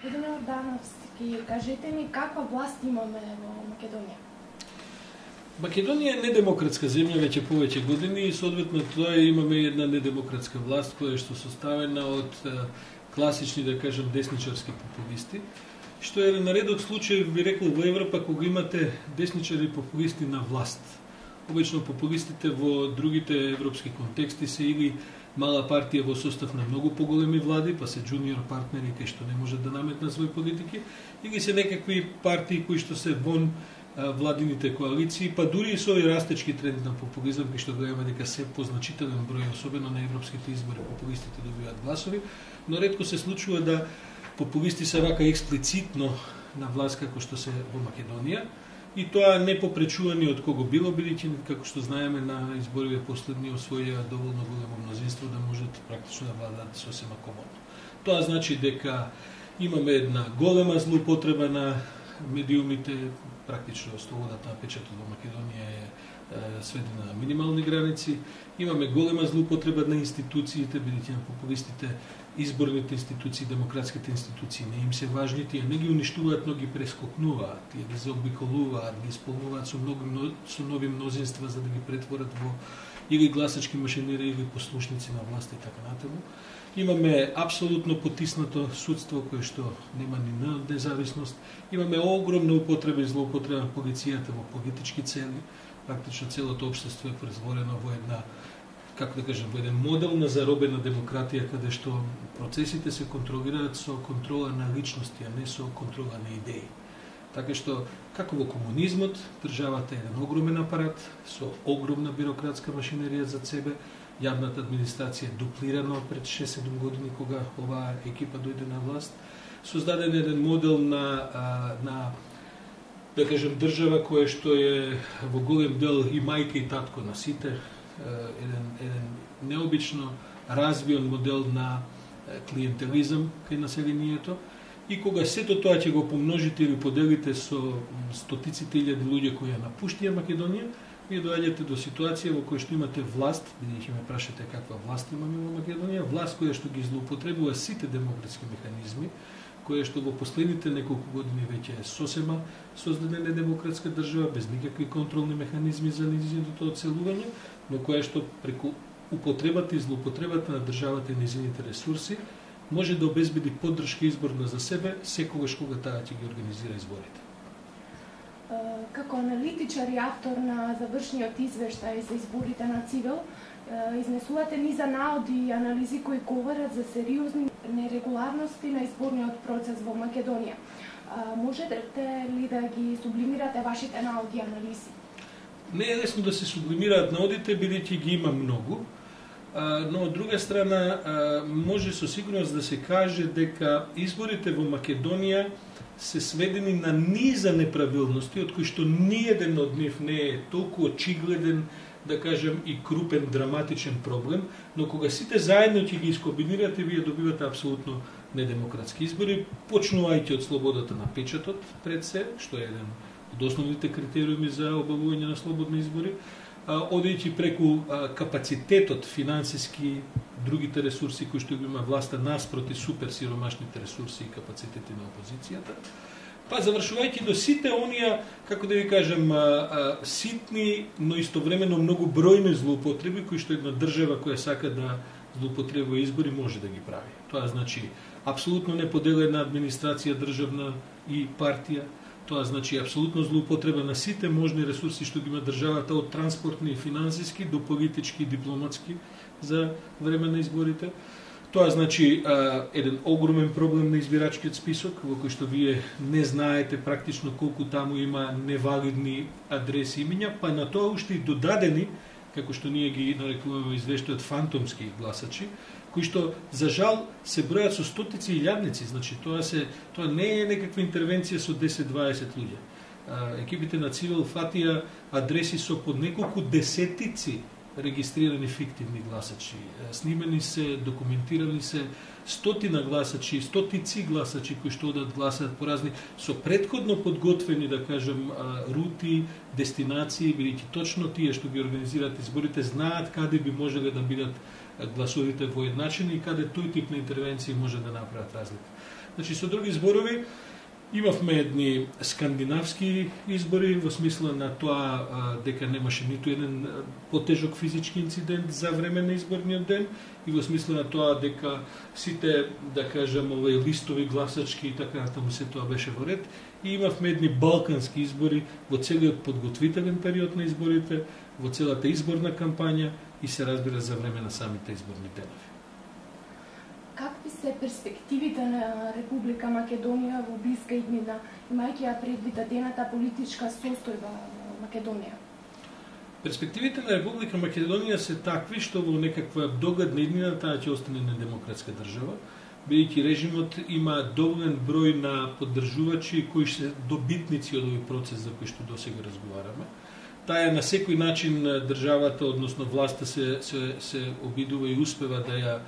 Господин Ордановски, кажете ми каква власт имаме во Македонија? Македонија е недемократска земја веќе повеќе години и соодветно тоа имаме една недемократска власт која што составена од класични, да кажем, десничарски популисти, што е на редок случај, би рекол, во Европа кога имате десничари популисти на власт. Обично популистите во другите европски контексти се или мала партија во состав на многу поголеми влади, па се джуниор партнери кои што не можат да наметнат своји политики, или се некакви партии кои што се вон владините коалиции, па дури и со овој растечки тренд на популизам, кој што гледаме дека се позначителен број, особено на европските избори, популистите добиваат гласови, но ретко се случува да популисти се вака експлицитно на власт како што се во Македонија, и тоа не попречувани од кого било, бидејќи како што знаеме на избориве последни освоија доволно големо мнозинство да можат практично да владаат сосема комодно. Тоа значи дека имаме една голема злоупотреба на медиумите, практично слободата на печатот во Македонија е сведена на минимални граници. Имаме голема злоупотреба на институциите, бидејќи на популистите изборните институции, демократските институции не им се важни, тие не ги уништуваат, но ги прескокнуваат, тие ги заобиколуваат, ги исполнуваат со нови мнозинства за да ги претворат во или гласачки машинери или послушници на власт и така натаму. Имаме апсолутно потиснато судство кое што нема ни независност. Имаме огромна употреба и злоупотреба на полицијата во политички цели. Практично целото општество е презворено во една, како да кажем, во еден модел на заробена демократија, каде што процесите се контролираат со контрола на личности, а не со контрола на идеи. Така што, како во комунизмот, државата е еден огромен апарат, со огромна бирократска машинерија за себе, јавната администрација е дуплирана пред 6-7 години кога оваа екипа дојде на власт, создаден еден модел на да кажем, држава која што е во голем дел и мајка и татко на сите, еден необично развиен модел на клиентелизам кај населението, и кога сето тоа ќе го помножите или поделите со стотиците илјади луѓе кои ја напуштија Македонија, вие доаѓате до ситуација во која што имате власт, бидејќи ме прашате каква власт имаме во Македонија, власт која што ги злоупотребува сите демократски механизми, која што во последните неколку години веќе е сосема создадена демократска држава без никакви контролни механизми за нејзиното оцелување, но која што преку употребата и злоупотребата на државата и нејзините ресурси може да обезбеди поддршка изборна за себе секогаш кога таа ќе ги организира изборите. Како аналитичар и автор на завршниот извештај за изборите на Цивел, изнесувате низа наоди и анализи кои говорат за сериозни нерегуларности на изборниот процес во Македонија. Можете ли да ги сублимирате вашите наоди и анализи? Не е лесно да се сублимираат наодите, бидејќи ги има многу, но од друга страна може со сигурност да се каже дека изборите во Македонија се сведени на низа неправилности, од кои што ниеден од нив не е толку очигледен, да кажем, и крупен, драматичен проблем, но кога сите заедно ќе ги искомбинирате, вие добивате апсолутно недемократски избори, почнувајќи од слободата на печатот пред се, што е еден од основните критериуми за обавување на слободни избори, одејќи преку капацитетот финансиски, другите ресурси кои што ги има власта наспроти супер сиромашните ресурси и капацитети на опозицијата, па завршувајќи до сите оние, како да ви кажем, ситни, но истовремено многу бројни злоупотреби кои што една држава која сака да злоупотребува избори може да ги прави. Тоа значи апсолутно неподелена администрација државна и партија. Тоа значи апсолутно злоупотреба на сите можни ресурси што ги има државата, од транспортни и финансиски до политички и дипломатски за време на изборите. Тоа значи еден огромен проблем на избирачкиот список, во кој што вие не знаете практично колку таму има невалидни адреси и имиња, па на тоа уште и додадени, како што ние ги нарекуваме извештајот фантомски гласачи, кои што за жал се бројат со стотици и илјадници, значи тоа не е некаква интервенција со 10-20 луѓе. Екипите на Цивел фатија адреси со по неколку десетици регистрирани фиктивни гласачи. Снимени се, документирани се стотина гласачи, стотици гласачи кои што одат гласаат по разни со претходно подготвени, да кажем, рути, дестинации, бидејќи точно тие што ги организираат изборите знаат каде би можеле да бидат гласовите воедначени и каде тој тип на интервенции може да направат разлика. Значи, со други зборови, имавме едни скандинавски избори во смисла на тоа дека немаше ниту еден потежок физички инцидент за време на изборниот ден и во смисла на тоа дека сите, да кажем, листови, гласачки и така натаму се тоа беше во ред. И имавме едни балкански избори во целиот подготвителен период на изборите, во целата изборна кампања и се разбира за време на самите изборни денови. Какви се перспективите на Република Македонија во блиска иднина, имајќи ја предвид дадената политичка состојба во Македонија? Перспективите на Република Македонија се такви што во некаква догадна иднина таа ќе остане недемократска држава, бидејќи режимот има доволен број на поддржувачи кои се добитници од овој процес за кој што досега разговараме. Таа на секој начин државата, односно власта се обидува и успева да ја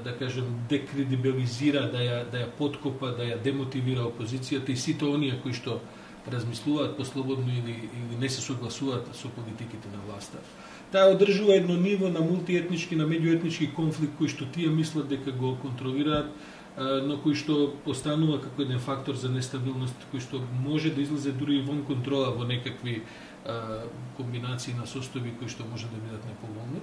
да кажем декредибилизира, да ја подкопа, да ја демотивира опозицијата и сите оние кои што размислуваат послободно или не се согласуваат со политиките на власта. Таа одржува едно ниво на мултиетнички, на меѓуетнички конфликт кој што тие мислат дека го контролираат, но кој што останува како еден фактор за нестабилност, кој што може да излезе дури и вон контрола во некакви комбинации на состојби кои што може да бидат неповолни.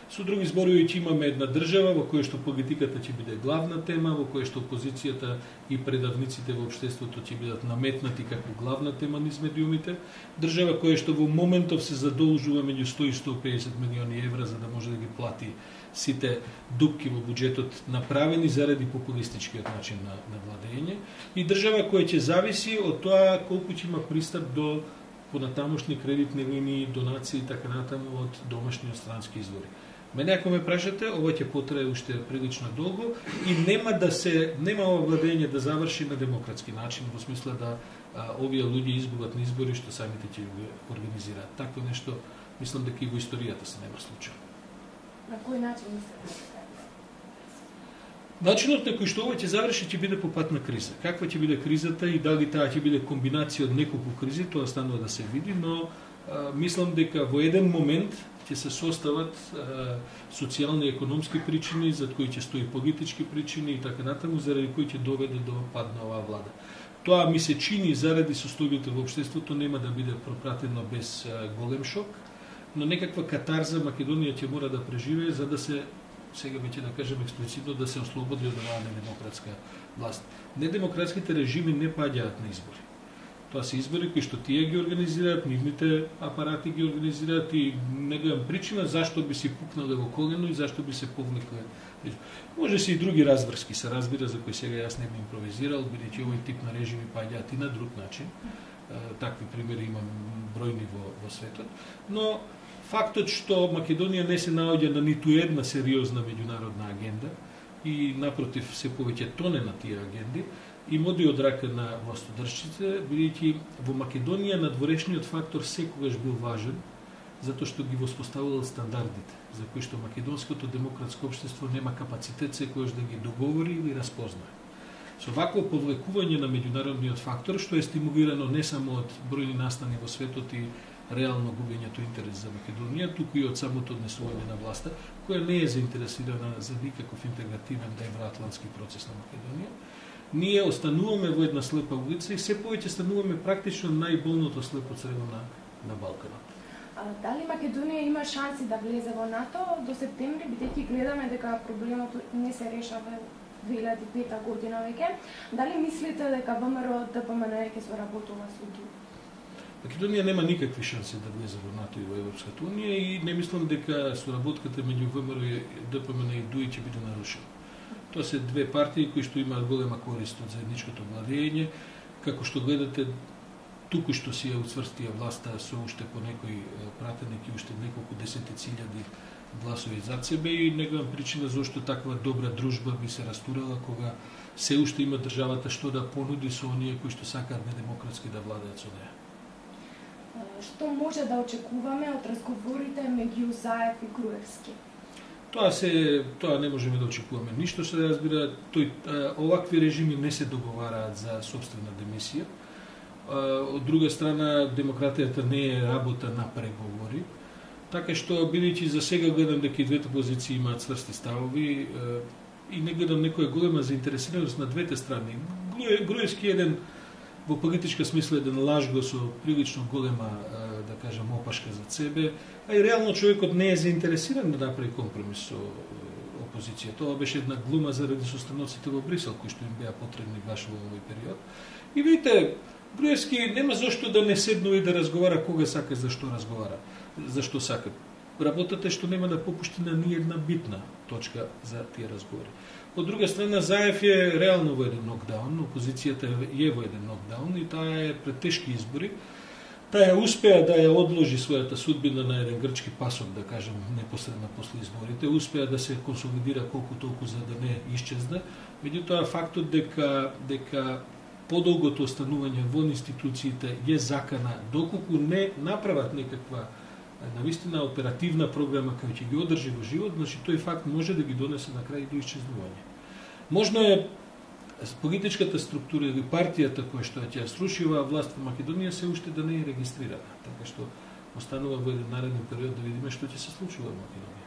Со други зборови, ќе имаме една држава во која што политиката ќе биде главна тема, во која што опозицијата и предавниците во општеството ќе бидат наметнати како главна тема низ медиумите. Држава која што во моментов се задолжува меѓу 100 и 150 милиони евра за да може да ги плати сите дупки во буџетот направени заради популистичкиот начин на владење. И држава која ќе зависи од тоа колку ќе има пристап до понатамошни кредитни линии, донации и така натаму од домашни и странски извори. Мене ако ме прашате, ова ќе потрае уште прилично долго и нема ова владење да заврши на демократски начин, во смисла да овие луѓе изгубат на избори што самите ќе ги организираат. Такво нешто, мислам дека и во историјата се нема случај. На кој начин мислите? Начинот на кој што ова ќе заврши ќе биде по пат на криза. Каква ќе биде кризата и дали таа ќе биде комбинација од неколку кризи, тоа станува да се види, но мислам дека во еден момент ќе се состават социјални и економски причини, за кои ќе стои политички причини и така натаму, заради кои ќе доведе до пад на оваа влада. Тоа ми се чини заради состојбите во општеството нема да биде пропратено без голем шок, но некаква катарза Македонија ќе мора да преживее за да се, сега веќе да кажем експлицитно, да се ослободи од оваа недемократска власт. Недемократските режими не паѓаат на избори. Тоа се избори кои што тие ги организираат, нивните апарати ги организираат и не гледам причина зашто би си пукнале во колено и зашто би се повлекле. Може се и други разврски се разбира, за кои сега јас не би импровизирал, бидејќи овој тип на режими паѓаат и на друг начин. Такви примери имам бројни во светот. Но фактот што Македонија не се наоѓа на ниту една сериозна меѓународна агенда и напротив се повеќе тоне на тие агенди, им оди од рака на властодржците, бидејќи во Македонија надворешниот фактор секогаш бил важен, затоа што ги воспоставувал стандардите, за кои што македонското демократско општество нема капацитет секогаш да ги договори или разпознае. Со вакво повлекување на меѓународниот фактор, што е стимулирано не само од бројни настани во светот и реално губењето интерес за Македонија, туку и од самото однесување на власта, која не е заинтересирана за никаков интегративен евроатлантски процес на Македонија, ние остануваме во една слепа улица и се повеќе стануваме практично најболното слепо црево на Балканот. Дали Македонија има шанси да влезе во НАТО до септември, бидејќи гледаме дека проблемот не се решава 2005 година веќе? Дали мислите дека ВМРО ДПМН ќе соработува со ДУ? Македонија нема никакви шанси да влезе во НАТО и во Европската унија и не мислам дека соработката меѓу ВМРО и ДПМН и ДУ ќе биде нарушена. Тоа се две партии кои што имаат голема корист од заедничкото владење, како што гледате туку што си ја уцврстија власта со уште по некој пратеник и уште неколку десетици илјади гласови зад себе и не гледам причина зашто таква добра дружба би се растурала кога се уште има државата што да понуди со оние кои што сакаат недемократски да владеат со неа. Што може да очекуваме од разговорите меѓу Заев и Груевски? Тоа не можеме да очекуваме ништо, се разбира, овакви режими не се договараат за собствена демисија. Од друга страна, демократијата не е работа на преговори. Така што, бидејќи за сега гледам дека и двете позиции имаат цврсти ставови и не гледам некоја голема заинтересираност на двете страни. Груевски еден, во политичка смисла, еден лажго со прилично голема, да кажем, опашка за себе, а и реално човекот не е заинтересиран да направи компромис со опозиција. Тоа беше една глума заради состаноците во Брисел, кои што им беа потребни баш во овој период. И видите, Груевски нема зашто да не седнува и да разговара кога сака, зашто разговара, зашто сака. Работата е што нема да попушти на ни една битна точка за тие разговори. Од друга страна, Заев е реално во еден нокдаун, опозицијата е во еден нокдаун и таа е пред тешки избори. Таа успеа да ја одложи својата судбина на еден грчки пасок, да кажем, непосредно после изборите, успеа да се консолидира колку толку за да не исчезне. Меѓутоа, фактот дека подолгото останување во институциите е закана, доколку не направат некаква навистина оперативна програма која ќе ги одржи во живот, значи тој факт може да ги донесе на крај до исчезнување. Можно е политичката структура или партијата која што ќе ја сруши оваа власт во Македонија се уште да не е регистрирана, така што останува во еден нареден период да видиме што ќе се случува во Македонија.